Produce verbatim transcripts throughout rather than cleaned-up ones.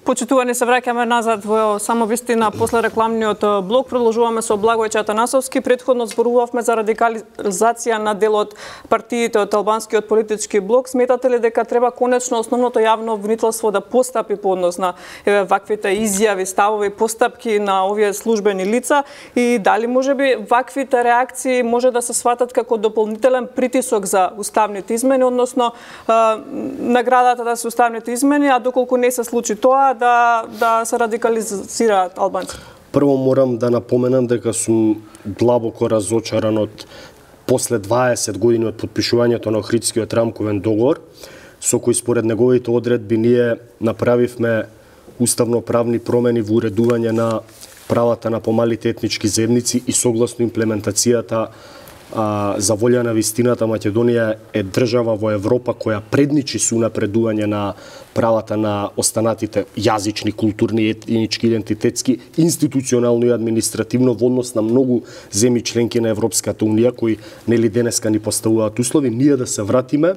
Почитувани, се враќаме назад во само вистина после рекламниот блок. Продолжуваме со Благојче Атанасовски. Претходно зборувавме за радикализација на дел од партиите од албанскиот политички блок. Сметате ли дека треба конечно основното јавно обвинителство да постапи по однос на еве ваквите изјави, ставови, постапки на овие службени лица и дали можеби ваквите реакции може да се сватат како дополнителен притисок за уставните измени, односно наградата да се уставните измени, а доколку не се случи тоа, да да се радикализираат албанци? Прво морам да напоменам дека сум длабоко разочаран од после дваесет години од потпишувањето на Охридскиот рамковен договор, со кој според неговите одредби ние направивме уставно-правни промени во уредување на правата на помалите етнички заедници и согласно имплементацијата а, за волја на вистината, Македонија е држава во Европа која предничи со унапредување на правата на останатите јазични, културни, етнички, идентитетски, институционално и административно во однос на многу земји членки на Европската унија кои нели денеска ни поставуваат услови, ние да се вратиме,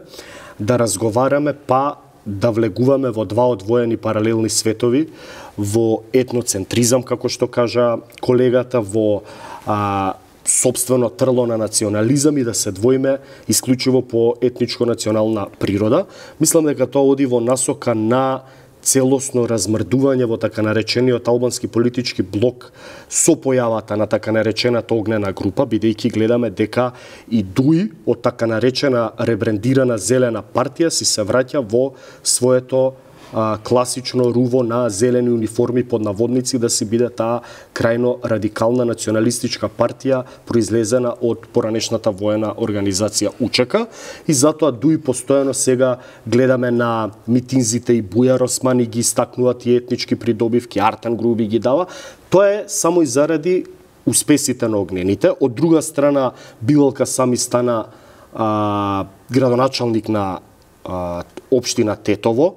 да разговараме, па да влегуваме во два одвоени паралелни светови, во етноцентризам, како што кажа колегата, во а, собствено трло на национализам и да се двоиме исклучиво по етничко-национална природа. Мислам дека тоа оди во насока на целосно размрдување во така наречениот албански политички блок со појавата на така наречената огнена група, бидејќи гледаме дека и ДУИ од така наречена ребрендирана зелена партија си се враќа во своето а, класично руво на зелени униформи под наводници да си биде таа крајно радикална националистичка партија произлезена од поранешната воена организација УЧК и затоа ДУИ постојано сега гледаме на митинзите и Бујар Османи ги истакнуваат и етнички придобивки, Артан Груби ги дава. Тоа е само и заради успесите на огнените. Од друга страна, Билалка Сами стана а, градоначалник на а, општина Тетово.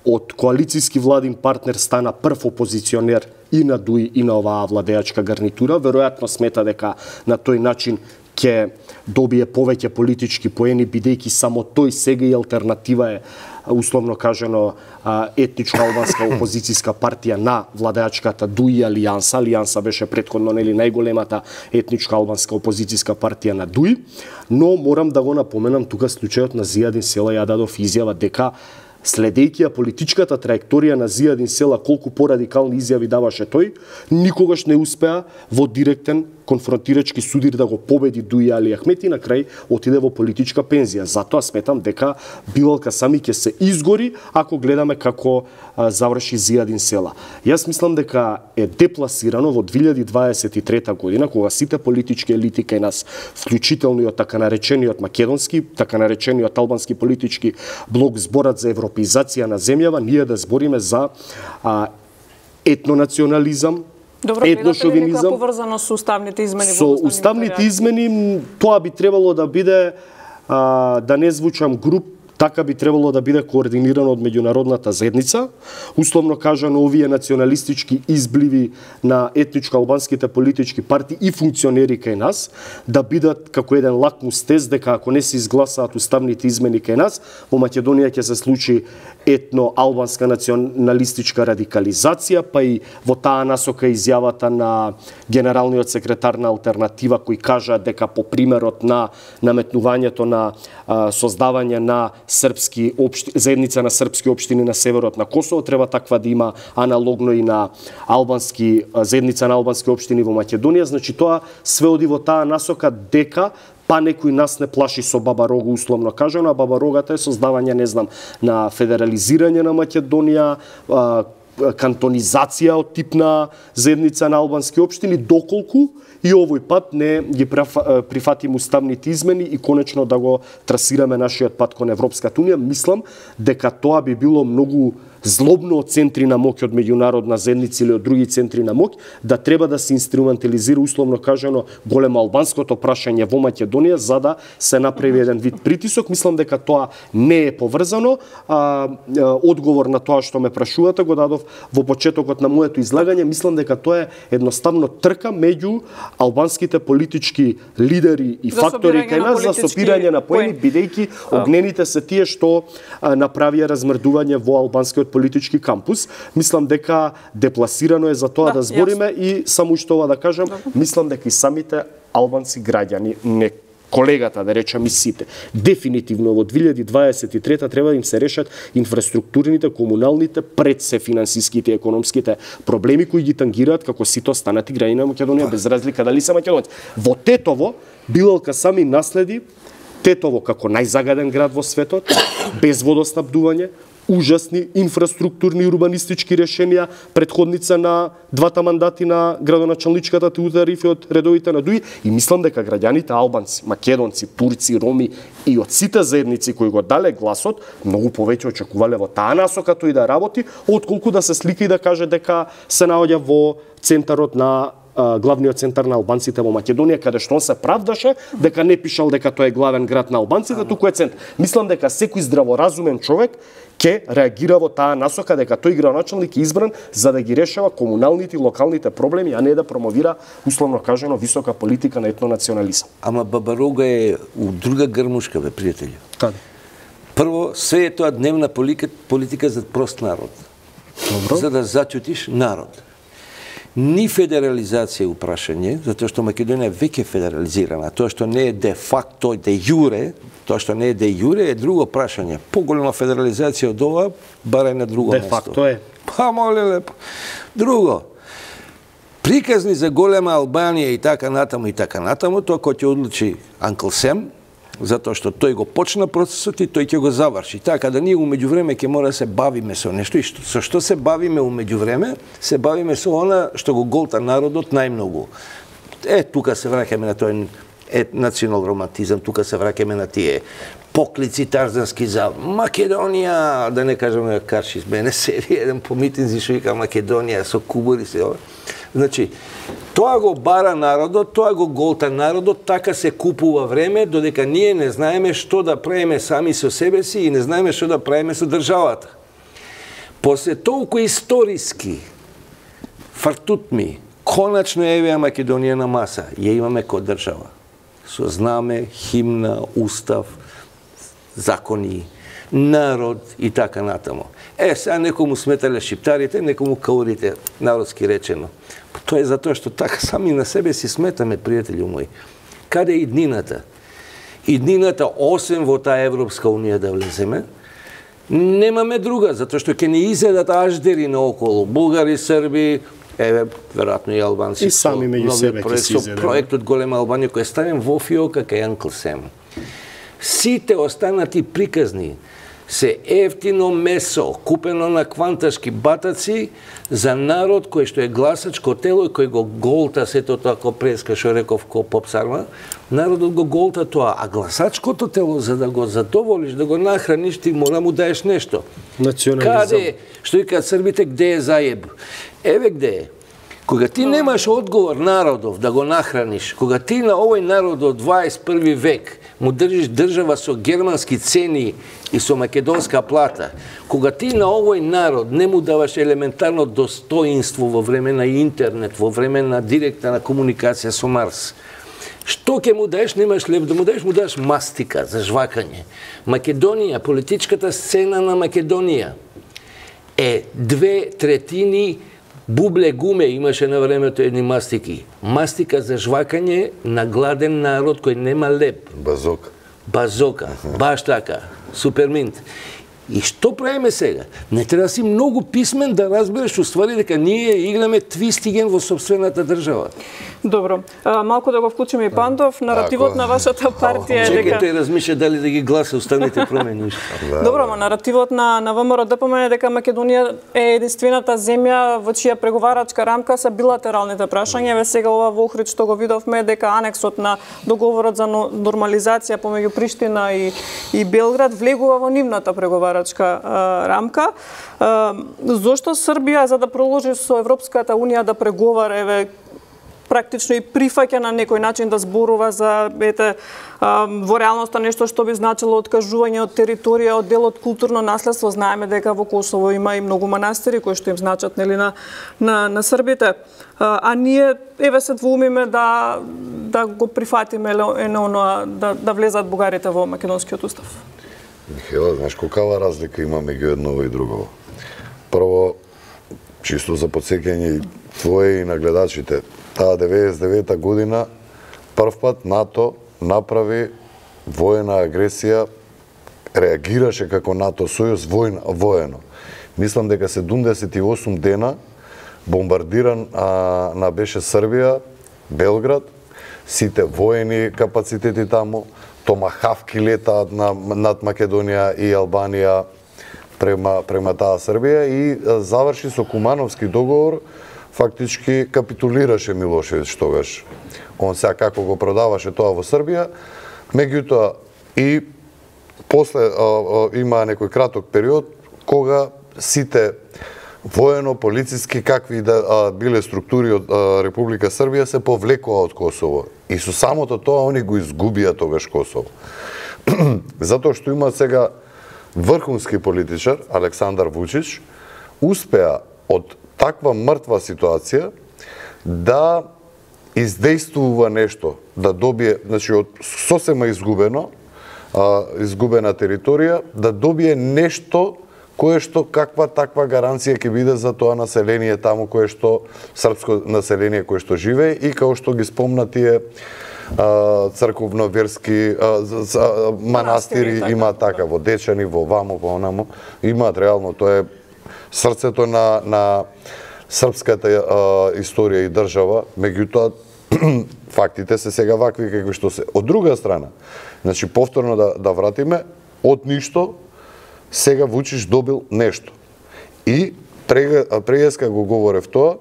Од коалицијски владин партнер стана прв опозиционер и на ДУИ и на оваа владеачка гарнитура. Веројатно смета дека на тој начин ќе добие повеќе политички поени, бидејќи само тој сега и алтернатива е, условно кажано, етничка албанска опозицијска партија на владеачката ДУИ Алијанса. Алијанса беше претходно нели најголемата етничка албанска опозицијска партија на ДУИ, но морам да го напоменам тука случајот на Зијадин Села. Ја дадов изјава дека следејќи ја политичката траекторија на Зијадин Села, колку порадикални изјави даваше тој, никогаш не успеа во директен конфронтирачки судир да го победи ДУИ Али Ахмет и на крај отиде во политичка пензија. Затоа сметам дека Билалка Сами ќе се изгори ако гледаме како а, заврши Зијадин Села. Јас мислам дека е депласирано во две илјади дваесет и трета година, кога сите политички елити кај нас, вклучително и од така наречениот македонски, така наречениот албански политички блок зборат за европеизација на земјава, ние да збориме за а, етнонационализам, Добро, етношовинизам, поврзано со уставните измени. Со уставните измени тоа би требало да биде, а, да не звучам груб, така би требало да биде координирано од меѓународната заедница. Условно кажано, овие националистички избливи на етничко-албанските политички партии и функционери кај нас да бидат како еден лакмус тест дека ако не се изгласаат уставните измени кај нас, во Македонија ќе се случи етно-албанска националистичка радикализација, па и во таа насока изјавата на генералниот секретар на Алтернатива кој кажа дека по примерот на наметнувањето на а, создавање на српски општи, заедница на српски општини на северот на Косово треба таква да има аналогно и на албански заедница на албански општини во Македонија. Значи тоа све оди во таа насока дека па некој нас не плаши со Баба Рога, условно кажано, а Баба Рогата е создавање, не знам, на федерализирање на Македонија, кантонизација од тип на заедница на албански општини, доколку и овој пат не ги прифатим уставните измени и конечно да го трасираме нашиот пат кон Европската унија. Мислам дека тоа би било многу злобно од центри на моќ, од меѓународна заедница или од други центри на моќ, да треба да се инструментализира, условно кажано, големо албанското прашање во Македонија за да се направи еден вид притисок. Мислам дека тоа не е поврзано. А, одговор на тоа што ме прашувате го дадов во почетокот на моето излагање. Мислам дека тоа е едноставно трка меѓу албанските политички лидери и фактори кај нас за сопирање на поени, бидејќи огнените се тие што а, направија размрдување во албанскиот политички кампус. Мислам дека депласирано е за тоа да, да збориме јас. И само уште ова да кажам, да. Мислам дека и самите албанци граѓани, не колегата, да речем и сите, дефинитивно во две илјади дваесет и трета треба да им се решат инфраструктурните, комуналните, пред се финансиските и економските проблеми кои ги тангираат како сите останати граѓани на Македонија, без разлика дали се македонци. Во Тетово Билелка сами наследи Тетово како најзагаден град во светот, без водоснабдување, ужасни инфраструктурни и урбанистички решенија, предходница на двата мандати на градоначалничката Теодора Рифи од редовите на ДУИ, и мислам дека граѓаните албанци, македонци, турци, роми и од сите заедници кои го дале гласот, многу повеќе очекувале во таа насока тој да работи, отколку да се слика и да каже дека се наоѓа во центарот на главниот центар на албанците во Македонија, каде што он се правдаше дека не пишал дека тоа е главен град на албанците, туку е центар. Мислам дека секој здраворазумен човек ќе реагира во таа насока дека тој градоначалник е избран за да ги решава комуналните и локалните проблеми, а не да промовира, условно кажано, висока политика на етнонационализам. Ама Бабарога е у друга грмушка, бе, пријатели. Каде? Прво, све е тоа дневна политика, политика за прост народ. Добро. За да зачутиш народ. Ни федерализација е упрашање, затоа што Македонија веќе е федерализирана. Тоа што не е де факто, де јуре, тоа што не е де јуре е друго прашање. Поголема федерализација од ова, барај на друго место. Де факто е. Па, моле лепо. Друго, приказни за голема Албанија и така натаму и така натаму, тоа кој ќе одлучи Анкл Сем, затоа што тој го почна процесот и тој ќе го заврши. Така да ние умеѓувреме ќе мора да се бавиме со нешто, и што, со што се бавиме умеѓувреме, се бавиме со она што го голта народот најмногу. Е, тука се враќаме на тој е, национал романтизам, тука се враќаме на тие поклици тарзански за Македонија, да не кажеме карши с мене серија, еден по митинзи што вика Македонија со кубури се ова. Значи, тоа го бара народот, тоа го голта народот, така се купува време, додека ние не знаеме што да правиме сами со себе си и не знаеме што да правиме со државата. После толку историски фартутми, конечно евеа Македонија на маса, ја имаме ко држава. Со знаме, химна, устав, закони, народ и така натаму. Е, сега некому сметале шиптарите, некому каурите, народски речено. Тоа е затоа што така сами на себе си сметаме, пријатели мои. Каде е иднината? Иднината, осем во таа Европска унија да влеземе, немаме друга, затоа што ќе не изедат аждери наоколу. Бугари, Срби, еве, веројатно и албанци. И сами меѓу себе ќе се изедат. Проектот Голема Албанија, кој е ставен во фиока кај Анкл Сем. Сите останати приказни се ефтино месо, купено на кванташки батаци за народ кој што е гласачко тело и кој го голта сето тоа ко преска, што реков ко попсарма. Народот го голта тоа, а гласачкото тело за да го задоволиш, да го нахраниш, ти мора му даеш нешто. Национализам. Каде, што викаат србите, где е заеб? Еве где е. Кога ти немаш одговор народов да го нахраниш, кога ти на овој народ од дваесет и први век му држиш држава со германски цени и со македонска плата, кога ти на овој народ не му даваш елементарно достоинство во време на интернет, во време на директна комуникација со Марс, што ќе му даеш? Немаш лев да му даеш, му даеш мастика за жвакање. Македонија, политичката сцена на Македонија е две третини бубле гуме, имаше на времето едни мастики. Мастика за жвакање на гладен народ кој нема леп. Базока. Базока, баш така. Суперминт. И што правиме сега? Не треба да си многу писмен да разбереш уствари дека ние играме твистиген во собствената држава. Добро. А, малку да го вклучиме и Пандов. Наративот Ако... на вашата партија е дека... Чекај, тој размишља дали да ги гласа останите промени. Добро, ма наративот на, на ВМРО ДПМН е дека Македонија е единствената земја во чија преговарачка рамка са билатералните прашања. Еве сега ова во Охрид што го видовме дека анексот на договорот за нормализација помеѓу Приштина и, и Белград влегува во нивната преговарачка а, рамка. А, зошто Србија, за да проложи со Европската унија да преговара, еве, практично и прифаќа на некој начин да зборува за, ете, а, во реалноста нешто што би значило откажување од територија, од дел од културно наследство. Знаеме дека во Косово има и многу манастири кои што им значат, нели, на, на, на србите. А, а ние, еве, се двумиме да, да го прифатиме ено, да, да влезат бугарите во македонскиот устав. Михаела, знаеш колкава разлика има меѓу едно и друго? чисто за подсеќање и твое и на гледачите, таа деветдесет и девета година првпат НАТО направи воена агресија, реагираше како НАТО сојуз воен, воено. Мислам дека седумдесет и осум дена бомбардиран а, на беше Србија, Белград, сите воени капацитети таму, томахавки летаат на, над Македонија и Албанија према, према таа Србија и а, заврши со Кумановски договор, фактички капитулираше Милошевиќ тогаш. Он сега како го продаваше тоа во Србија, меѓутоа и после а, а, има некој краток период кога сите воено-полициски какви да а, биле структури од а, Република Србија се повлекоа од Косово. И со самото тоа они го изгубија тогаш Косово. Затоа што има сега врхунски политичар, Александар Вучич, успеа од таква мртва ситуација да издействува нешто, да добие, значи од сосема изгубено, а, изгубена територија, да добие нешто кое што каква таква гаранција ќе биде за тоа население таму кое што српско население кое што живее и како што ги спомна тие црковно-верски манастири има така во Дечани, во ваму, во онаму, имаат реално, тоа е срцето на на српската а, историја и држава, меѓутоа фактите се сега вакви какви што се. Од друга страна, значи повторно да да вратиме, од ништо сега Вучич добил нешто. И преска го говорев тоа,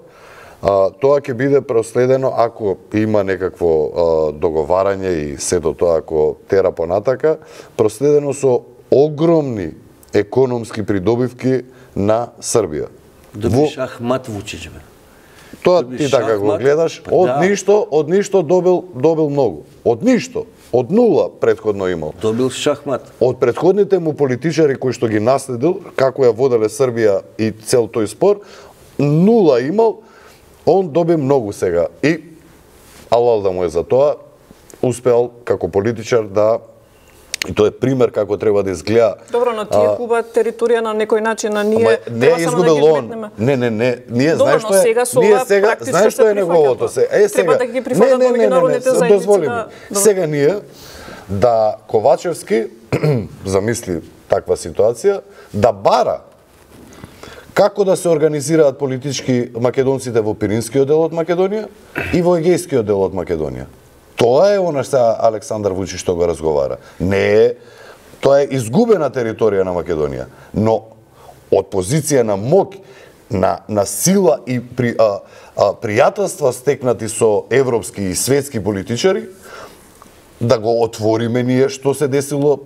а, тоа ќе биде проследено ако има некакво а, договарање и сето тоа ако тера понатака, проследено со огромни економски придобивки на Србија. Доби Шахмат Вучич, бе. Тоа ти така го гледаш, од да. ништо, од ништо добил добил многу. Од ништо, од нула претходно имал. Добил шахмат. Од претходните му политичари кои што ги наследил, како ја воделе Србија и цел тој спор, нула имал, он доби многу сега. И алал да му е за тоа, успеал како политичар да. И тоа е пример како треба да изгледа. Добро, но тие губат територија на некој начин, а ние не е изгубил да он. Не, не, не, ние знаеш што е. Ние сега знаеш што е неговото се. Е сега. Треба да ги прифатат меѓународните заедници. Дозволи ми. Сега ние да Ковачевски замисли таква ситуација, да бара како да се организираат политички македонците во Пиринскиот дел од Македонија и во Егејскиот дел од Македонија. Тоа е она што Александар Вучич што го разговара. Не е, тоа е изгубена територија на Македонија, но од позиција на моќ, на, на сила и при, а, а, пријателства стекнати со европски и светски политичари, да го отвориме ние што се десило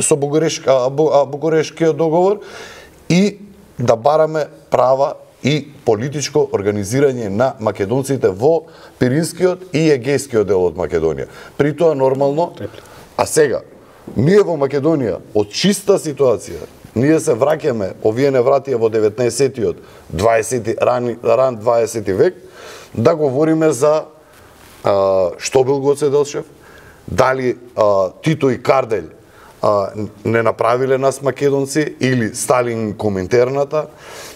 со Бугарешки, а, Бугарешкиот договор и да бараме права и политичко организирање на македонците во Пиринскиот и Егејскиот дел од Македонија. При тоа нормално, а сега, ние во Македонија, од чиста ситуација, ние се враќаме, овие не вратија во деветнаесеттиот, дваесети, ран, ран дваесети век, да говориме за а, што бил Гоце Делчев, дали а, Тито и Кардель а, не направиле нас македонци или Сталин Коминтерната,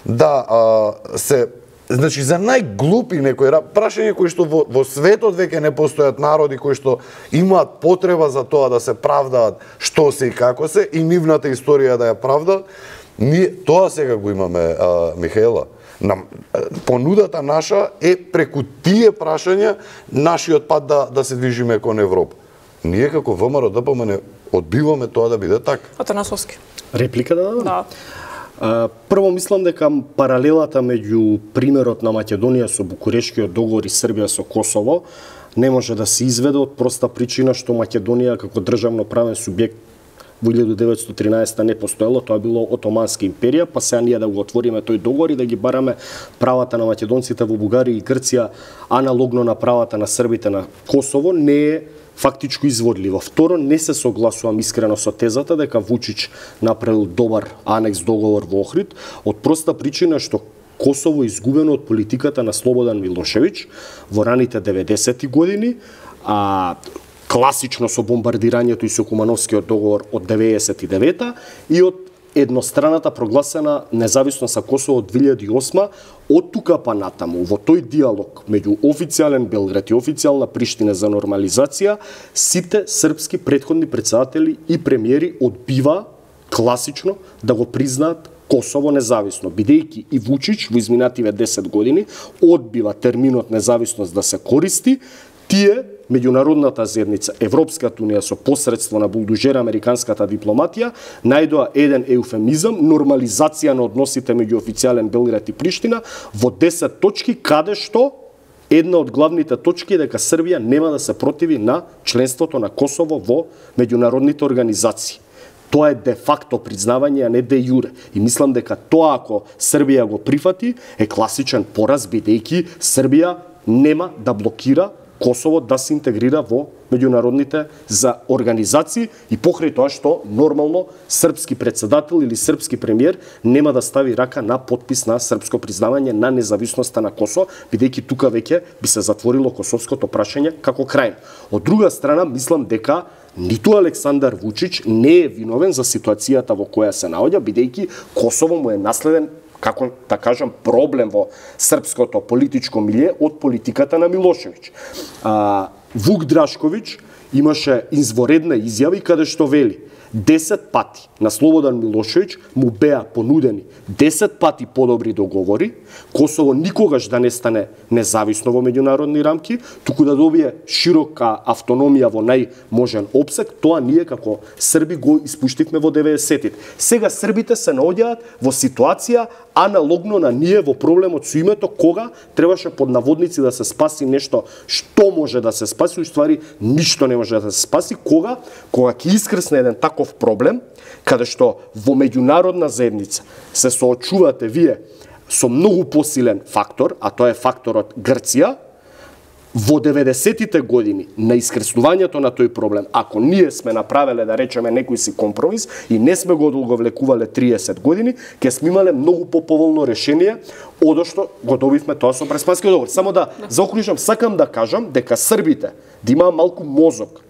да а, се, значи за најглупи некои прашања кои што во, во светот веќе не постојат народи кои што имаат потреба за тоа да се правдаат што се и како се и нивната историја да ја правда, ние тоа сега го имаме, а, Михаела. На, понудата наша е преку тие прашања нашиот пат да, да се движиме кон Европа. Ние како ВМРО-ДПМН не одбиваме тоа да биде така. Атанасовски. Реплика да дадам? Да. Прво мислам дека паралелата меѓу примерот на Македонија со Букурешкиот договор и Србија со Косово не може да се изведе од проста причина што Македонија како државно правен субјект во илјадум деветстотини и тринаесетта не постоело, тоа било Отоманска империја, па сега ние да го отвориме тој договор и да ги бараме правата на македонците во Бугарија и Грција аналогно на правата на србите на Косово не е фактичко изводливо. Второ, не се согласувам искрено со тезата дека Вучич направил добар анекс договор во Охрид, од проста причина што Косово е изгубено од политиката на Слободан Милошевиќ во раните деветдесети години, а класично со бомбардирањето и со Кумановскиот договор од деветдесет и девета и од едностраната прогласена независност на Косово од две илјади и осма, од тука па натаму, во тој диалог меѓу официјален Белград и официјална Приштина за нормализација, сите српски претходни председатели и премиери одбива класично да го признаат Косово независно, бидејќи и Вучич во изминативе десет години одбива терминот независност да се користи, тие меѓународната заедница, Европската унија со посредство на булдужера американската дипломатија, најдоа еден еуфемизам, нормализација на односите меѓу официјален Белград и Приштина во десет точки, каде што една од главните точки е дека Србија нема да се противи на членството на Косово во меѓународните организации. Тоа е де факто признавање, а не де јуре. И мислам дека тоа, ако Србија го прифати, е класичен пораз, бидејќи Србија нема да блокира Косово да се интегрира во меѓународните за организации и покрај тоа што нормално српски председател или српски премиер нема да стави рака на подпис на српско признавање на независноста на Косово, бидејќи тука веќе би се затворило косовското прашање како крај. Од друга страна, мислам дека ниту Александар Вучич не е виновен за ситуацијата во која се наоѓа, бидејќи Косово му е наследен, како да кажам, проблем во српското политичко милје од политиката на Милошевиќ. А, Вук Драшковиќ имаше изворедна изјави каде што вели десет пати на Слободан Милошевиќ му беа понудени десет пати подобри договори, Косово никогаш да не стане независно во меѓународни рамки, туку да добие широка автономија во најможен опсек. Тоа ние како срби го испуштивме во деветдесетите. Сега србите се наоѓаат во ситуација аналогно на ние во проблемот со името, кога требаше под наводници да се спаси нешто што може да се спаси, уствари ништо не може да се спаси, кога кога ќе искрсне еден таков проблем, каде што во меѓународна заедница се соочувате вие со многу посилен фактор, а тоа е факторот Грција, во деветдесетите години на искреснувањето на тој проблем, ако ние сме направеле, да речеме, некој си компромис и не сме го одолговлекувале триесет години, ќе сме имале многу поповолно решение од што го добивме тоа со Преспанскиот договор. Само да заокружам, сакам да кажам дека србите да имаа малку мозок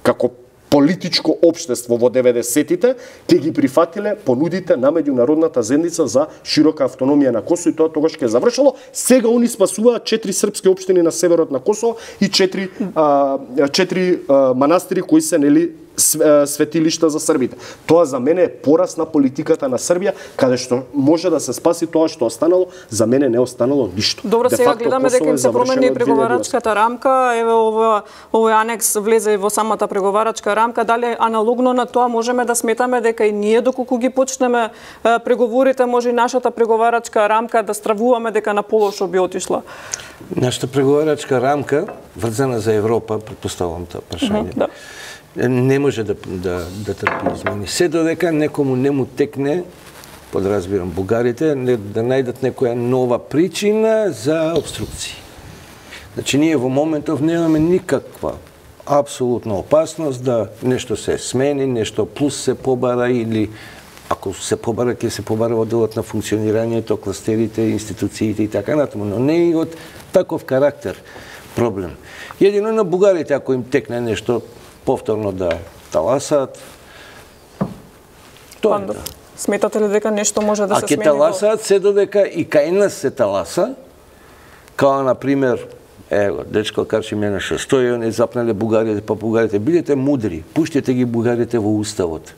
како политичко општество во деветдесетите, ќе ги прифатиле понудите на меѓународната заедница за широка автономија на Косово и тоа тогаш ќе завршало. Сега они спасуваат четири српски општини на северот на Косово и четири, а, четири а, манастири кои се нели светилишта за србите. Тоа за мене е пораз на политиката на Србија, каде што може да се спаси тоа што останало, за мене не останало ништо. Добро, Де сега факто, гледаме дека им се промени преговарачката рамка, еве ова овој анекс влезе и во самата преговарачка рамка, дали аналогно на тоа можеме да сметаме дека и ние доколку ги почнеме преговорите, може и нашата преговарачка рамка да стравуваме дека на полошо би отишла? Нашата преговарачка рамка врзана за Европа, претпоставувам тоа прашање. Mm-hmm, да. Не може да, да, да трпи измени. Се додека некому не му текне, подразбирам бугарите, да најдат некоја нова причина за обструкции. Значи, ние во моментов немаме никаква апсолутна опасност да нешто се смени, нешто плюс се побара или ако се побара, ќе се побара во делот на функционирањето, кластерите, институциите и така натаму, но не и од таков карактер проблем. Едино на бугарите, ако им текне нешто повторно да таласаат, тоа е. Сметате ли дека нешто може да се смени? А ќе таласаат се додека и кај нас се таласа, као на пример, ево, дечко Карчи менеше, стои они запнале бугарите, па бугарите, бидете мудри, пуштете ги бугарите во уставот.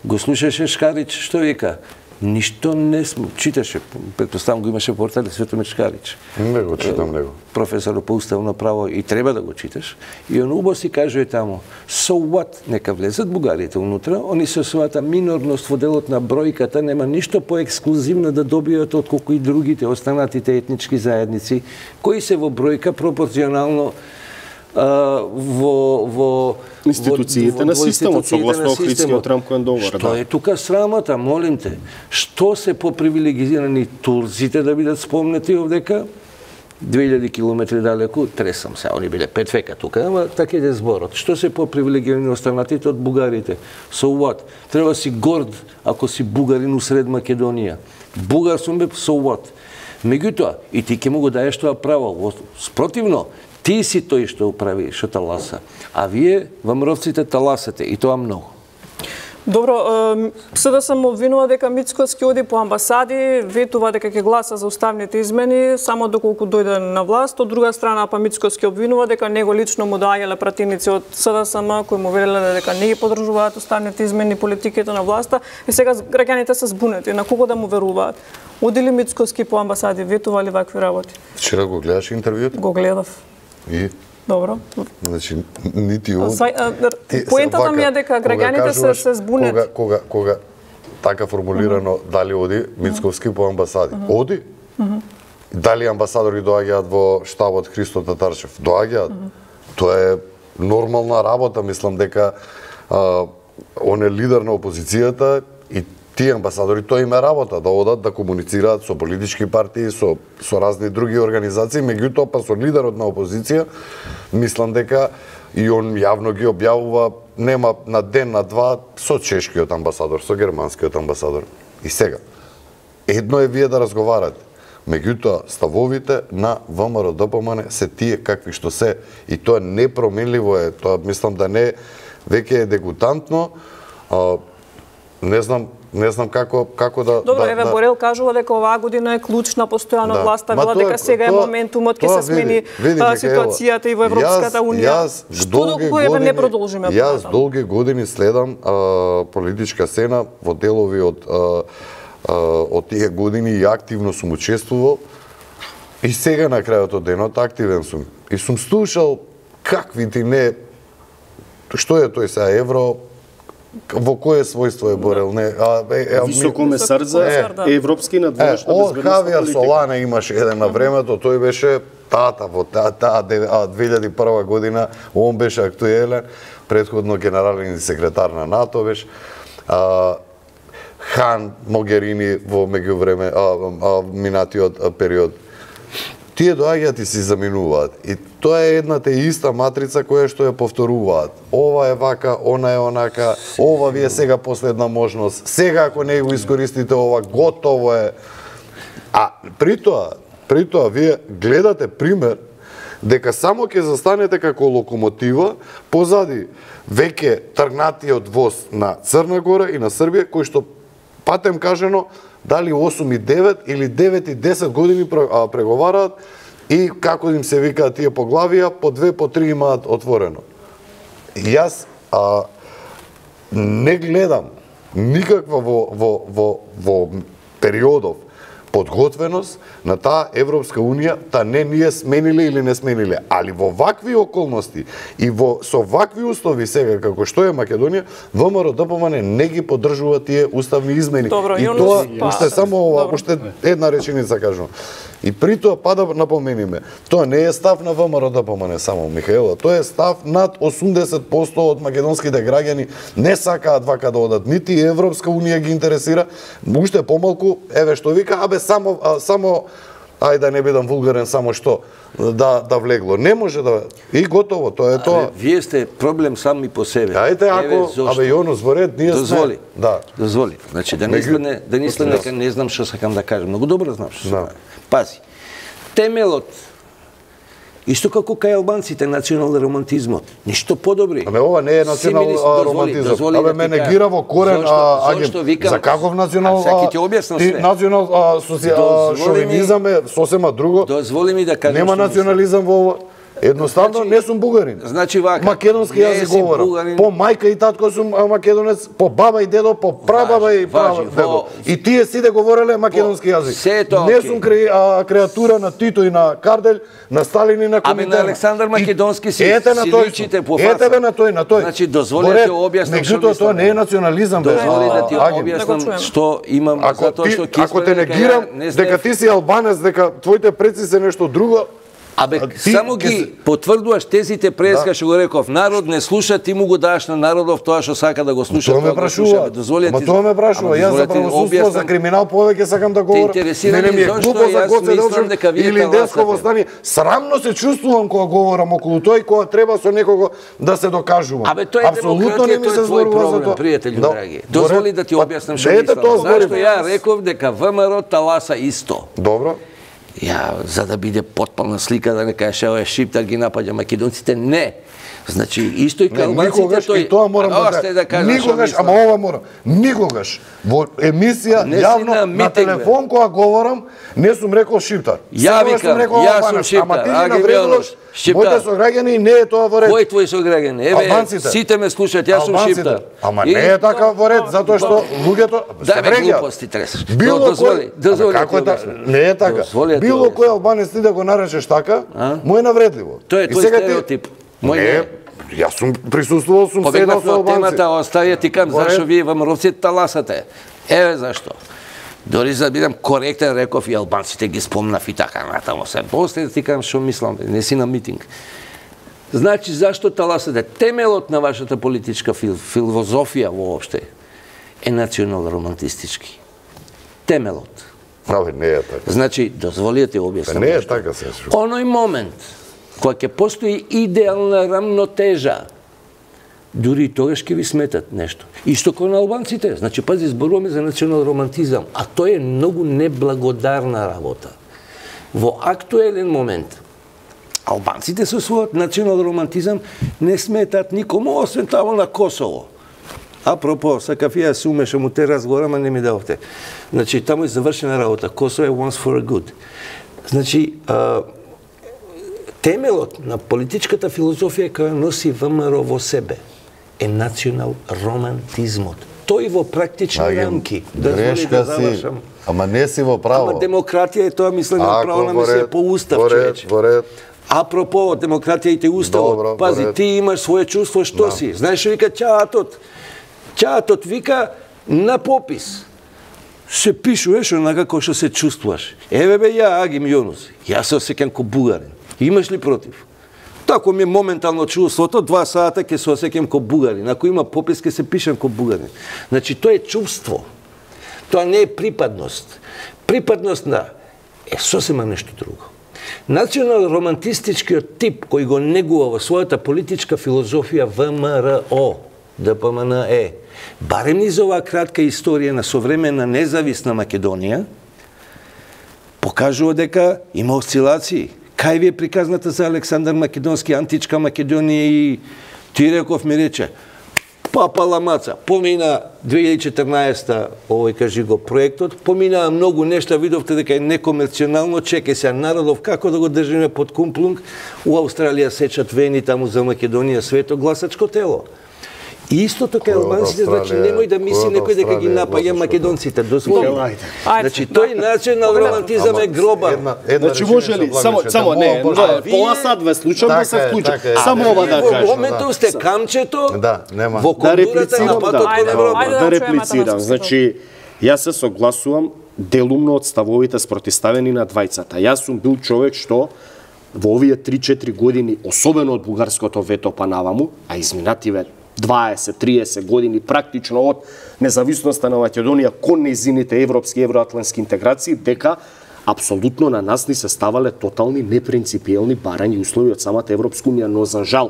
Го слушаше Шкарич, што вика? Ништо не сме, читаше, предпоставам го имаше портали Светомир Шкарич. Не го читам него. Професор по уставно право и треба да го читаш. И он убаво си кажува таму, so what, нека влезат бугарите унутра, они со својата минорност во делот на бројката нема ништо поексклузивно да добијат отколку и другите останатите етнички заедници, кои се во бројка пропорционално во во институциите на системот, согласно Охридскиот рамковен договор. Што е тука срамата, молим те? Што се попривилегизирани турците да бидат спомнети овдека? две илјади километри далеку, тресам се, они биле пет века тука, ама така е зборот. Што се попривилегирани останатите од бугарите? So what? Треба си горд ако си бугарин усред Македонија. Бугар сум бе, so what? Меѓутоа, и ти ќе му го даеш тоа право. Спротивно, ти си тој што управи, што таласа. А вие, вамровците, таласате, и тоа многу. Добро, СДСМ му обвинува дека Мицкоски оди по амбасади, ветува дека ќе гласа за уставните измени само доколку дојде на власт. Од друга страна, па Мицкоски обвинува дека него лично му доаѓале пратеници од СДСМ кои му велеле дека не ги поддржуваат уставните измени, политиките на власта. И сега граѓаните се збунети. На кого да му веруваат? Оди ли Мицкоски по амбасади, ветува ли вакви работи? Вчера го гледаш интервјуто? Го гледав. И? Добро. Значи, нити од... Поентата ми е дека граѓаните се, се збунет. Кога, кога, кога така формулирано, mm -hmm. дали оди Мицковски по амбасади? Mm -hmm. Оди? Mm -hmm. Дали амбасадори доаѓаат во штабот Христо Татарчев? Доаѓаат. Mm -hmm. Тоа е нормална работа, мислам дека а, он е лидер на опозицијата и тие амбасадори, тоа им е работа, да одат да комуницираат со политички партии, со, со разни други организации, меѓутоа па со лидерот на опозиција, мислам дека и он јавно ги објавува, нема на ден, на два, со чешкиот амбасадор, со германскиот амбасадор. И сега, едно е вие да разговарате, меѓутоа ставовите на ВМРО-ДПМН се тие какви што се, и тоа непроменливо е, тоа мислам да не веќе е дегутантно, а, не знам Не знам како како да Добро, да, еве да... Борел кажува дека оваа година е клучна постојано да. власта, вела дека сега е моментумот ќе се смени види, а, ситуацијата и во Европската јас, унија. Јас Што доколку еве не продолжиме? Јас долги години следам а, политичка сцена во делови од а, а, од тие години и активно сум учествувал. И сега на крајот од денот активен сум. И сум слушал какви ти не што е тој сега евро, во кое својство е Борел? Не, а, е, е, Високомесар за е, европски надворешна безбедносна политика. Од Хавијар Солана имаше еден на времето, тој беше тата во таа та, две илјади и прва година, он беше актуелен, претходно генерален секретар на НАТО беше. А, Хан Могерини во меѓувреме, а, а, минатиот период. Тие доаѓаат и се заминуваат. И тоа е едната и иста матрица која што ја повторуваат. Ова е вака, она е онака, ова ви е сега последна можност. Сега ако не го искористите ова, готово е. А при тоа, при тоа вие гледате пример дека само ќе застанете како локомотива позади веќе тргнатиот воз на Црна Гора и на Србија, кој што патем кажано дали осум и девет или девет и десет години преговараат и како им се викаат тие поглавија, по две, по три имаат отворено. Јас а, не гледам никаква во, во, во, во периодов подготвеност на таа Европска Унија, та не ние смениле или не смениле, али во вакви околности и во со вакви услови сега како што е Македонија, ВМРО-ДПМН не ги поддржува тие уставни измени. Добро, и тоа уште само ова, уште една реченица кажувам. И при тоа па да напомениме, тоа не е став на ВМРО-ДПМН само, Михаело, тоа е став над осумдесет проценти од македонските граѓани не сакаат вака да одат, нити Европска Унија ги интересира, уште помалку, еве што вика, абе само а, само ајде да не бидам вулгарен, само што да да влегло. Не може да и готово, тоа е тоа. Але вие сте проблем сами по себе. Ајде ако абе Јоно зборет, ние дозволи, сме. Да. Дозволи. Значи да не стане да не стане дека не знам што сакам да кажам. Многу добро знам што сакам. Пази. Темелот исто како кај албанците национален романтизмот. Ништо подобри. Абе ова не е национален романтизам. Абе ме негира во корен а аген. За каков национал? Саки ти објаснам све. Национал шовинизам е сосема друго. Дозволи ми да кажам. Нема национализам во ова. Едноставно значи, не сум бугарин. Значи вака. Македонски јазик говорам. Бугарин. По мајка и татко сум македонец, по баба и дедо, по прабаба и прадедо. И тие сите говореле македонски јазик. Не сум кре, а, креатура на Тито и на Кардель, на Сталин и на Коминтерна. Ами на Александар Македонски си, ете си личите по фаса. Ете бе на тој, на тој. Значи дозволи да ти објаснам што мислам. Меѓутоа тоа не е национализам. Дозволи да ти објаснам што имам затоа што ќе ако те негирам дека ти си албанец, дека твоите предци се нешто друго. Абе, ти, само ги се... потврдуваш тезите преска, да. Што го реков, народ не слуша, ти му го даш на народов тоа што сака да го слуша, тоа ме прашува. Ама тоа ме прашува, јас за правосудство, за криминал повеќе сакам да говорам. Мене ми е глупо за Гоце Делчев или Десково стани. Срамно се чувствувам кога говорам околу тој, кога треба со некого да се докажувам. Абе, тоа е демократија, тоа е твој проблем, пријатели драги. Дозволи да ти објаснам што мислам. Зашто ја реков дека ВМРО таласа исто. Добро. Ја, за да биде потполна слика, да не кажеш, ево е Шиптар ги напаѓа македонците, не. Значи, исто и кај албанците никогаш, тој... и тоа морам А, да, да, да кажам, никогаш, ама ова морам, никогаш во емисија Не си јавно на на, митинг, телефон кога говорам, не сум рекол шиптар. Ја Секогаш викам, сум рекол јас албанец, сум ама ти шиптар, ми Аги навредуваш Милош, шиптар. моите сограѓани и не е тоа во ред. Кој твои сограѓани? Еве, Албанците. сите ме слушаат, јас сум Албанците. шиптар. Ама И- не е така во ред, затоа што луѓето се Дај бе вреѓаат. глупости тресаш. Било Дозволи, кој, дозволи Ама како ти е та... објаснам. не е така. Дозволи да ти Било објаснам. кој албанец ти да го наречеш така, му е навредливо. Тоа е И твој сега ти- стереотип. Мој не, не. јас сум присуствувал, сум седнал Побегнавме со од албанци. темата, оставија ти кам, Во ред. зашо вие ВМРО-ците таласате. Еве зашто. Дори за да бидам коректен, реков и албанците ги спомнав и така натаму се. После да ти кажам што мислам, не си на митинг. Значи, зашто таласате? Темелот на вашата политичка фил, филозофија воопште е национал-романтистички. Темелот. Абе, не е така. Значи, дозволите објаснам. Не е нешто. така се. Оној момент, кога ќе постои идеална рамнотежа, дури и тогаш ќе ви сметат нешто. Исто како на албанците. Значи, пази, зборуваме за национал романтизам, а тоа е многу неблагодарна работа. Во актуелен момент, албанците со својот национал романтизам не сметат никому, освен тамо на Косово. Апропо, сакав ја се умешам у те разговора, ама не ми давте. Значи, таму е завршена работа. Косово е once for a good. Значи, а, темелот на политичката филозофија која носи ВМРО во себе е национал романтизмот. Тој во практични рамки. Дозволи Грешка да си, завршам. ама не си во право. Ама демократија е тоа мислење на Ако, право на во мислење ред, по устав, во ред, човече. во ред. Апропо демократијата и уставот, Добро, пази, во ред. ти имаш своје чувство, што Да. си? Знаеш што вика чаатот? Чаатот вика на попис. Се пишуваш онака кој што се чувствуваш. Еве бе ја, Агим Јонус, јас се осеќам ко бугарин. Имаш ли против? Тако ми е моментално чувството, два сата ќе се осеќам ко бугарин. Ако има попис, ќе се пишам ко бугарин. Значи, тоа е чувство. Тоа не е припадност. Припадност на е сосема нешто друго. Национал-романтистичкиот тип кој го негува во својата политичка филозофија ВМРО, ДПМНЕ, барем низ оваа кратка историја на современна независна Македонија, покажува дека има осцилации. Кај ви е приказната за Александар Македонски, античка Македонија и ти реков ми рече, папа ламаца, помина две илјади и четрнаесета, овој кажи го проектот, поминаа многу нешта, видовте дека е некомерционално, чеке се народов како да го држиме под кумплунг, у Австралија сечат вени таму за Македонија свето гласачко тело. И истото кај албанците, значи немој да мисли некој дека ги напаѓа македонците, дозволи. Значи тој национал романтизам е гробар. Значи може ли само само не, пола сат ве слушам да се вклучам. Само ова да Во кажам. моментот сте камчето Да, нема. во Да кондурата на реплицирам, патот да, кон Ајде, Европа. ајде. да чуеме реплицирам. Атанасов. Значи, јас се согласувам делумно од ставовите спротивставени на двајцата. Јас сум бил човек што во овие три-четири години, особено од бугарското вето па наваму, а изминативе дваесет-триесет години практично од независноста на Македонија кон нејзините европски и евроатлантски интеграции, дека апсолутно на нас ни се ставале тотални непринципиелни барања и услови од самата Европска унија, но за жал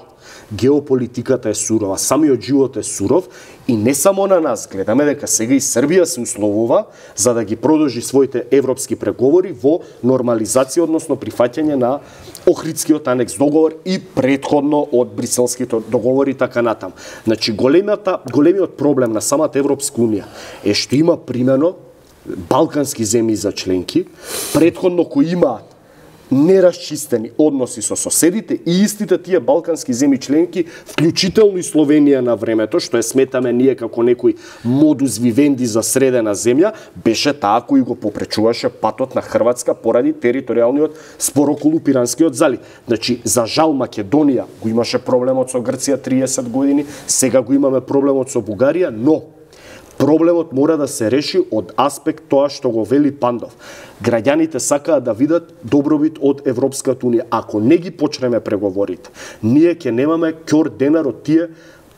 геополитиката е сурова, самиот живот е суров и не само на нас, гледаме дека сега и Србија се условува за да ги продолжи своите европски преговори во нормализација, односно прифаќање на Охридскиот анекс договор и претходно од Бриселските договори и така натам. Значи големата големиот проблем на самата Европска унија е што има примено балкански земји за членки, претходно кои имаат нерасчистени односи со соседите и истите тие балкански земји членки, вклучително и Словенија на времето, што е сметаме ние како некој модус вивенди за средена земја, беше таа кој го попречуваше патот на Хрватска поради територијалниот спор околу Пиранскиот залив. Значи, за жал Македонија го имаше проблемот со Грција триесет години, сега го имаме проблемот со Бугарија, но проблемот мора да се реши од аспект тоа што го вели Пандов. Граѓаните сакаат да видат добробит од Европската унија. Ако не ги почнеме преговорите, ние ќе немаме ќор денар од тие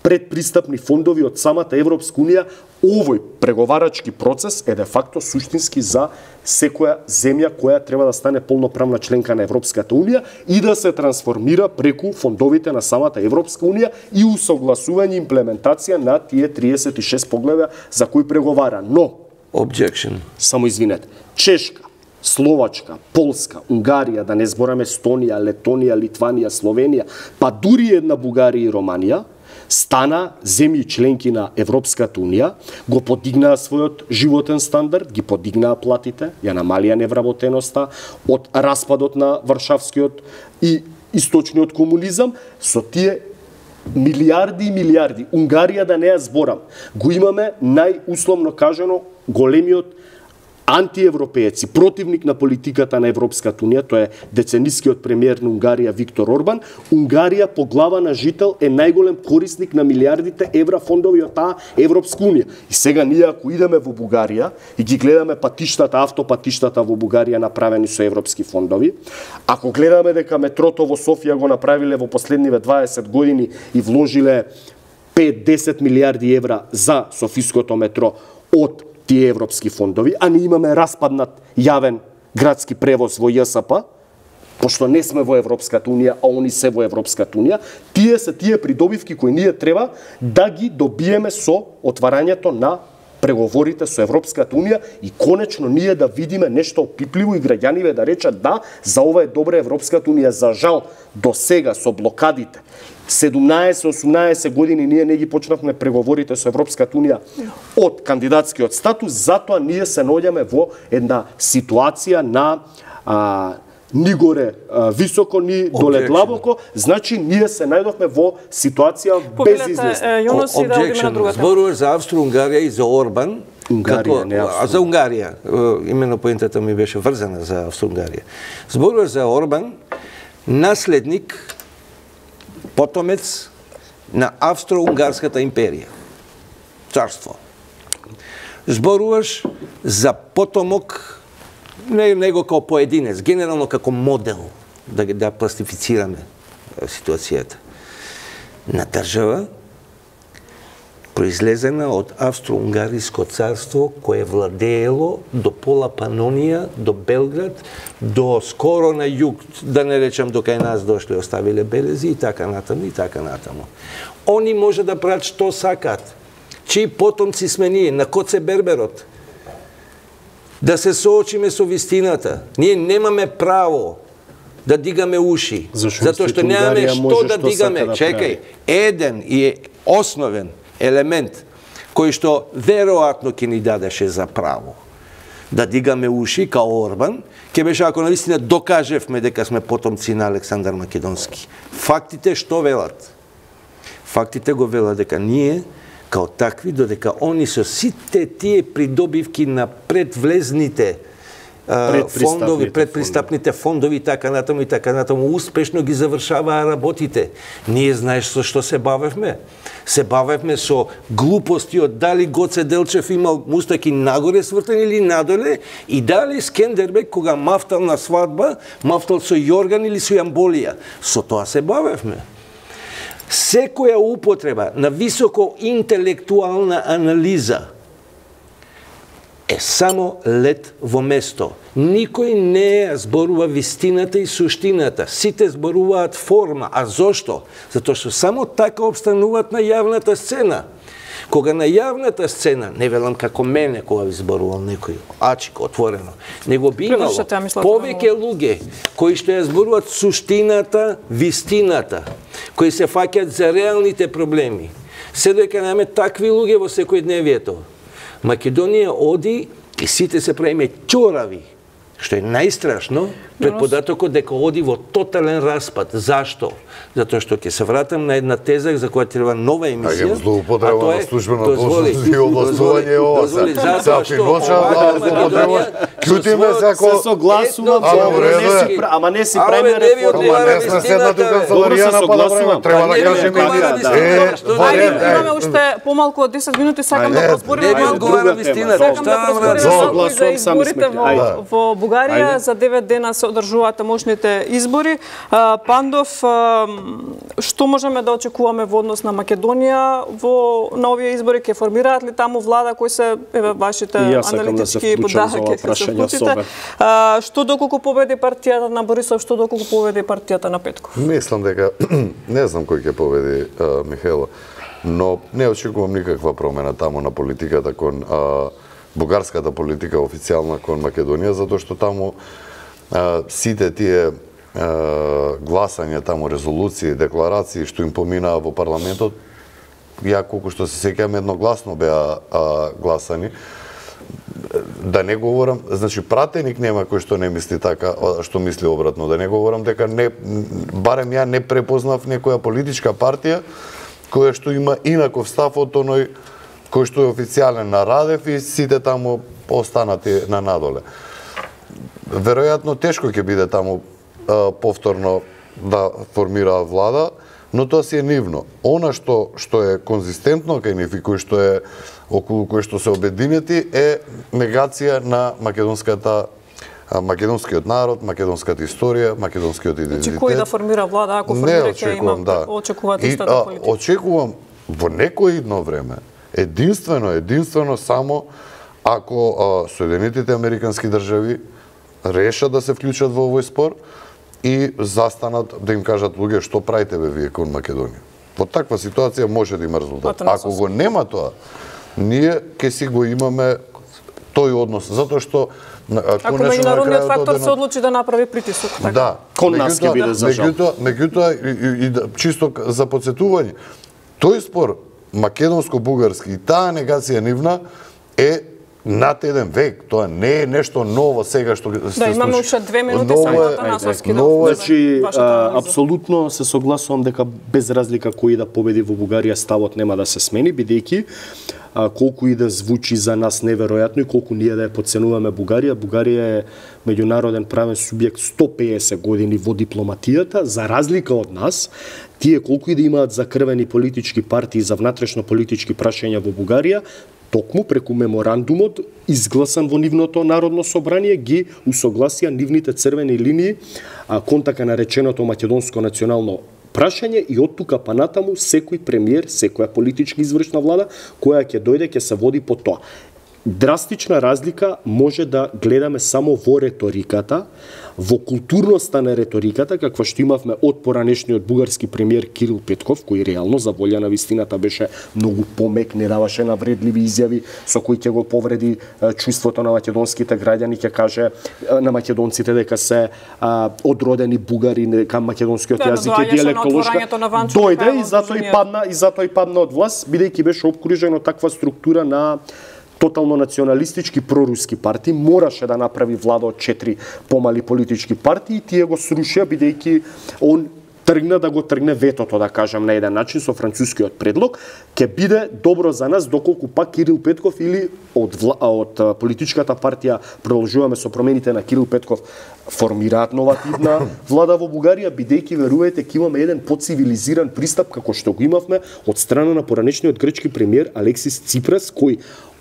предпристапни фондови од самата Европска унија. Овој преговарачки процес е де факто суштински за секоја земја која треба да стане полноправна членка на Европската унија и да се трансформира преку фондовите на самата Европска унија и усогласување и имплементација на тие триесет и шест поглавја за кои преговара. Но, Objection. само извинете, Чешка, Словачка, Полска, Унгарија, да не збораме Естонија, Летонија, Литванија, Словенија, па дури една Бугарија и Романија, стана земји членки на Европската Унија, го подигнаа својот животен стандард, ги подигнаа платите, ја намалија невработеноста од распадот на Варшавскиот и источниот комунизам, со тие милиарди и милиарди. Унгарија, да не ја зборам, го имаме најусловно кажано големиот антиевропеец и противник на политиката на Европската Унија, тоа е деценискиот премиер на Унгарија Виктор Орбан. Унгарија по глава на жител е најголем корисник на милиардите евра фондови од таа Европска Унија. И сега ние ако идеме во Бугарија и ги гледаме патиштата, автопатиштата во Бугарија направени со европски фондови, ако гледаме дека метрото во Софија го направиле во последниве дваесет години и вложиле пет до десет милиарди евра за Софиското метро од тие европски фондови, а ние имаме распаднат јавен градски превоз во ЈСП, пошто не сме во Европската Унија, а они се во Европската Унија, тие се тие придобивки кои ние треба да ги добиеме со отварањето на преговорите со Европската Унија и конечно ние да видиме нешто опипливо и граѓаниве да речат да, за ова е добра Европската Унија. За жал, до сега со блокадите, седумнаесет осумнаесет години ние не ги почнавме преговорите со Европската Унија од кандидатскиот статус, затоа ние се наоѓаме во една ситуација на а, ни горе а, високо, ни доле длабоко, значи ние се најдовме во ситуација без излез. Зборуваш за Австро-Унгарија и за Орбан, Унгарија, како, не Австро. а за Унгарија, имено поентата ми беше врзана за Австро-Унгарија. Зборуваш за Орбан, наследник, потомец на Австро-Унгарската империја, царство. Зборуваш за потомок, не него како поединец, генерално како модел, да да пластифицираме ситуацијата, на држава произлезена од Австро-Унгариско царство кое владеело до пола Панонија, до Белград, до скоро на југ, да не речам до кај нас дошле, оставиле белези и така натаму и така натаму. Они може да прават што сакат. Чии потомци сме ние, на Коце Берберот. Да се соочиме со вистината. Ние немаме право да дигаме уши, затоа што немаме што да дигаме. Чекај, еден и основен елемент кој што веројатно ќе ни дадеше за право да дигаме уши као Орбан, ќе беше ако навистина докажевме дека сме потомци на Александар Македонски. Фактите што велат? Фактите го велат дека ние као такви, додека они со сите тие придобивки на предвлезните фондови, предпристапните фондови и така натаму и така натаму успешно ги завршаваа работите. Ние знаеш со што се бавевме? Се бавевме со глупости од дали Гоце Делчев имал мустаки нагоре свртени или надоле и дали Скендербек кога мафтал на свадба, мафтал со јорган или со јамболија. Со тоа се бавевме. Секоја употреба на високо интелектуална анализа е само лет во место. Никој не зборува вистината и суштината. Сите зборуваат форма. А зошто? Затоа што само така обстануваат на јавната сцена. Кога на јавната сцена, не велам како мене кога ви зборувал некој ачик отворено, него би имало повеќе луѓе кои што ја зборуваат суштината, вистината, кои се фаќаат за реалните проблеми. Се дека немаме такви луѓе во секојдневието. Македонија оди и сите се правиме ќорави, што е најстрашно, пред податокот дека оди во тотален распад. Зашто? Затоа што ќе се вратам на една теза за која треба нова емисија. А злоупотреба на службена должност и овластување е ова. Затоа што Македонија ќутиме се ако се согласувам, ама не си правиме реформа. Ама не сме седнати у канцеларијана па да правиме. Треба да кажеме Ајде, имаме уште помалку од десет минути, сакам да разбориме малку. Сакам да разбориме за изборите во Бугарија. За девет дена се одржуваат мошните избори. Пандов, што можеме да очекуваме во однос на Македонија во на овие избори? Ке формираат ли таму влада, кои се еве вашите аналитички подаки ќе се вклучите? Што доколку победи партијата на Борисов, што доколку победи партијата на Петков? Мислам дека не знам кој ќе победи Михаело, но не очекувам никаква промена таму на политиката кон бугарската политика официјална кон Македонија, затоа што таму а, сите тие а, гласања, таму резолуции, декларации што им поминаа во парламентот, ја колку што се сеќавам едногласно беа а, гласани. Да не говорам, значи пратеник нема кој што не мисли така, што мисли обратно. Да не говорам дека не, барем ја не препознав некоја политичка партија која што има инаков став од оној кој што е официјален на Радев и сите таму останати на надоле. Веројатно тешко ќе биде таму а, повторно да формира влада, но тоа си е нивно. Она што што е конзистентно кај нив и кој што е околу кој што се обединети е негација на македонската македонскиот народ, македонската историја, македонскиот идентитет. Значи кој да формира влада ако формира ќе има да. очекувате истата политика? Очекувам во некој идно време единствено, единствено само ако а, Соединетите Американски држави решат да се вклучат во овој спор и застанат да им кажат луѓе што правите бе вие кон Македонија. Во таква ситуација може да има резултат. Ако го нема тоа, ние ќе си го имаме тој однос, затоа што ако меѓународниот фактор се одлучи да направи притисок, така. Да, кон нас ќе биде за жал. Меѓутоа, меѓутоа и, и, и чисто за потсетување, тој спор македонско-бугарски и таа негација нивна е над еден век, тоа не е нешто ново сега што се случи. Да, имаме уште две минути само да насоски. Значи, апсолутно се согласувам дека без разлика кој да победи во Бугарија, ставот нема да се смени, бидејќи колку и да звучи за нас неверојатно и колку ние да ја подценуваме Бугарија, Бугарија е меѓународен правен субјект сто песет години во дипломатијата, за разлика од нас. Тие колку и да имаат закрвени политички партии за внатрешно политички прашања во Бугарија, токму преку меморандумот изгласан во нивното народно собрание ги усогласија нивните црвени линии кон така нареченото македонско национално прашање и од тука па натаму секој премиер, секоја политичка извршна влада која ќе дојде ќе се води по тоа. Драстична разлика може да гледаме само во реториката, во културноста на реториката, каква што имавме од поранешниот бугарски премиер Кирил Петков, кој реално за волја на вистината беше многу помек, не даваше навредливи изјави со кои ќе го повреди чувството на македонските граѓани, ќе каже на македонците дека се а, одродени бугари, дека македонскиот да, јазик е диалектолошка. Дојде и затоа и падна и затоа и падна од власт, бидејќи беше обкружен од таква структура на тотално националистички проруски партии, мораше да направи влада од четири помали политички партии и тие го срушија бидејќи он тргна да го тргне ветото, да кажам на еден начин со францускиот предлог. Ќе биде добро за нас доколку пак Кирил Петков или од вла... од политичката партија Продолжуваме со промените на Кирил Петков формираат новативна влада во Бугарија, бидејќи верувајте ќе имаме еден поцивилизиран пристап како што го имавме од страна на поранешниот грчки премиер Алексис Ципрас, кој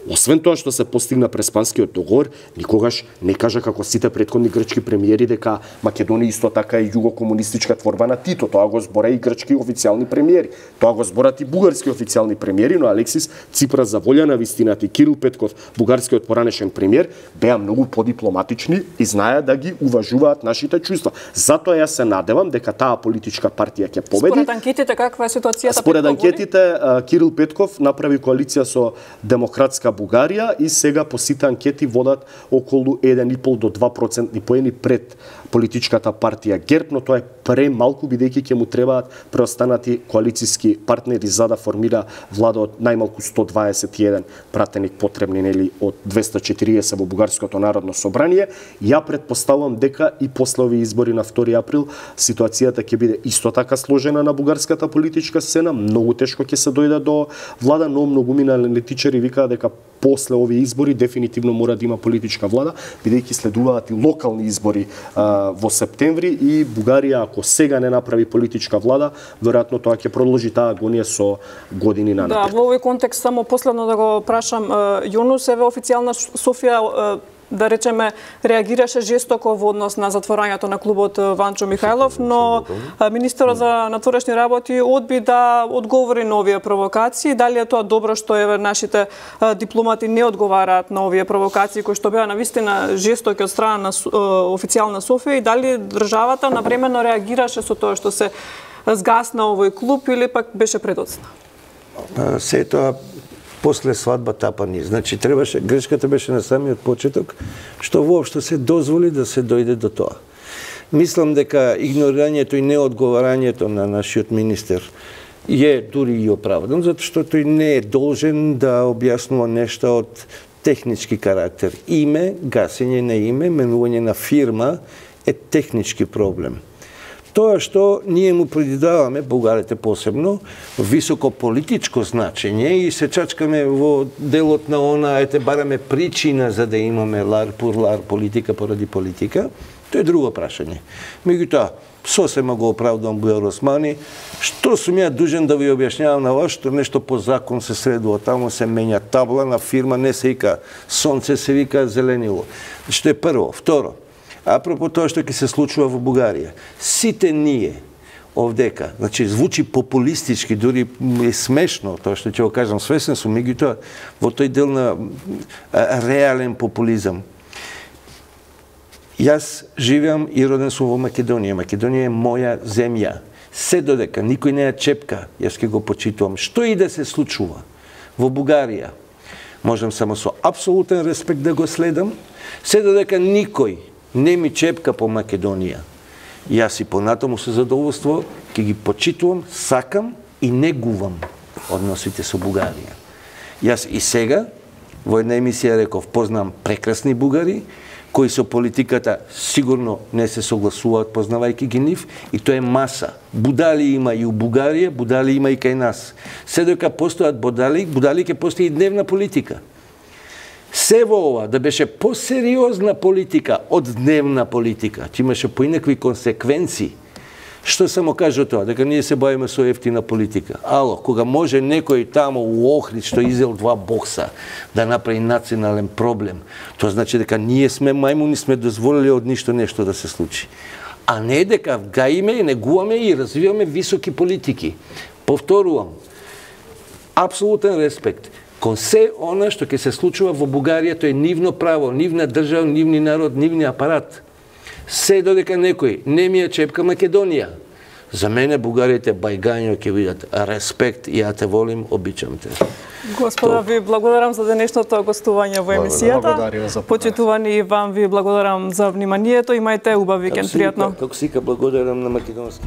освен тоа што се постигна преспанскиот договор, никогаш не кажа како сите претходни грчки премиери дека Македонија исто така е југокомунистичка творба на Тито. Тоа го збора и грчки официјални премиери. Тоа го зборат и бугарски официјални премиери, но Алексис Ципрас за волја на вистината и Кирил Петков, бугарскиот поранешен премиер, беа многу подипломатични и знаеа да ги уважуваат нашите чувства. Затоа јас се надевам дека таа политичка партија ќе победи. Според анкетите каква е ситуацијата? Според анкетите Кирил Петков направи коалиција со Демократска Бугарија и сега по сите анкети водат околу еден и пол до два процентни поени пред политичката партија ГЕРБ, но тоа е премалку бидејќи ќе му требаат преостанати коалициски партнери за да формира влада од најмалку сто дваесет и еден пратеник потребни, нели, од двесте и четириесет во Бугарското народно собрание. Ја претпоставувам дека и после овие избори на втори април ситуацијата ќе биде исто така сложена на бугарската политичка сцена, многу тешко ќе се дојде до влада, но многумина аналитичари викаат дека после овие избори дефинитивно мора да има политичка влада, бидејќи следуваат и локални избори а, во септември и Бугарија ако сега не направи политичка влада, веројатно тоа ќе продолжи таа агонија со години нанапред. Да, во овој контекст само последно да го прашам, Јунус еве официјална Софија да речеме, реагираше жестоко во однос на затворањето на клубот Ванчо Михајлов, но министерот за надворешни работи одби да одговори на овие провокации. Дали е тоа добро што еве нашите дипломати не одговараат на овие провокации кои што беа навистина жестоки од страна на официјална Софија и дали државата навремено реагираше со тоа што се згасна овој клуб или пак беше предоцна? Се тоа после свадба тапани. Значи требаше, грешката беше на самиот почеток, што воопшто се дозволи да се дојде до тоа. Мислам дека игнорирањето и неодговарањето на нашиот министер е дури и оправдан, затоа што тој не е должен да објаснува нешта од технички карактер. Име, гасење на име, менување на фирма е технички проблем. Тоа што ние му придаваме, бугарите посебно, високо политичко значење и се чачкаме во делот на она, ете бараме причина за да имаме лар пур лар, политика поради политика, тоа е друго прашање. Меѓутоа, сосема го оправдувам Бујар Османи, што сум ја дужен да ви објаснявам на вас, што нешто по закон се средува, тамо се менја табла на фирма, не се вика сонце, се вика зеленило. Што е прво. Второ, апропо тоа што ќе се случува во Бугарија, сите ние овдека, значи звучи популистички, дури е смешно тоа што ќе го кажам, свесен сум, меѓутоа во тој дел на реален популизам. Јас живеам и роден сум во Македонија. Македонија е моја земја. Се додека никој не ја чепка, јас ќе го почитувам. Што и да се случува во Бугарија, можам само со апсолутен респект да го следам, се додека никој не ми чепка по Македонија. Јас и понатаму со задоволство ќе ги почитувам, сакам и негувам односите со Бугарија. Јас и сега во една емисија реков, познам прекрасни бугари, кои со политиката сигурно не се согласуваат, познавајќи ги нив, и тоа е маса. Будали има и у Бугарија, будали има и кај нас. Се дека постојат будали, будали ќе постои и дневна политика. Се во ова да беше посериозна политика од дневна политика, ќе имаше поинакви консеквенции. Што само кажа тоа? Дека ние се бавиме со ефтина политика. Ало, кога може некој тамо у Охрид што изел два бокса да направи национален проблем, тоа значи дека ние сме мајмуни, сме дозволили од ништо нешто да се случи. А не дека гаиме, негуваме и развиваме високи политики. Повторувам, апсолутен респект кон се она што ќе се случува во Бугарија, тоа е нивно право, нивна држава, нивни народ, нивни апарат. Се додека некој не ми ја чепка Македонија. За мене бугарите бајгањо ќе видат респект и ја те волим, обичам те. Господа, ви благодарам за денешното гостување во емисијата. Почитувани вам ви благодарам за вниманието. Имајте убав викенд, пријатно. Како сика, благодарам на македонски.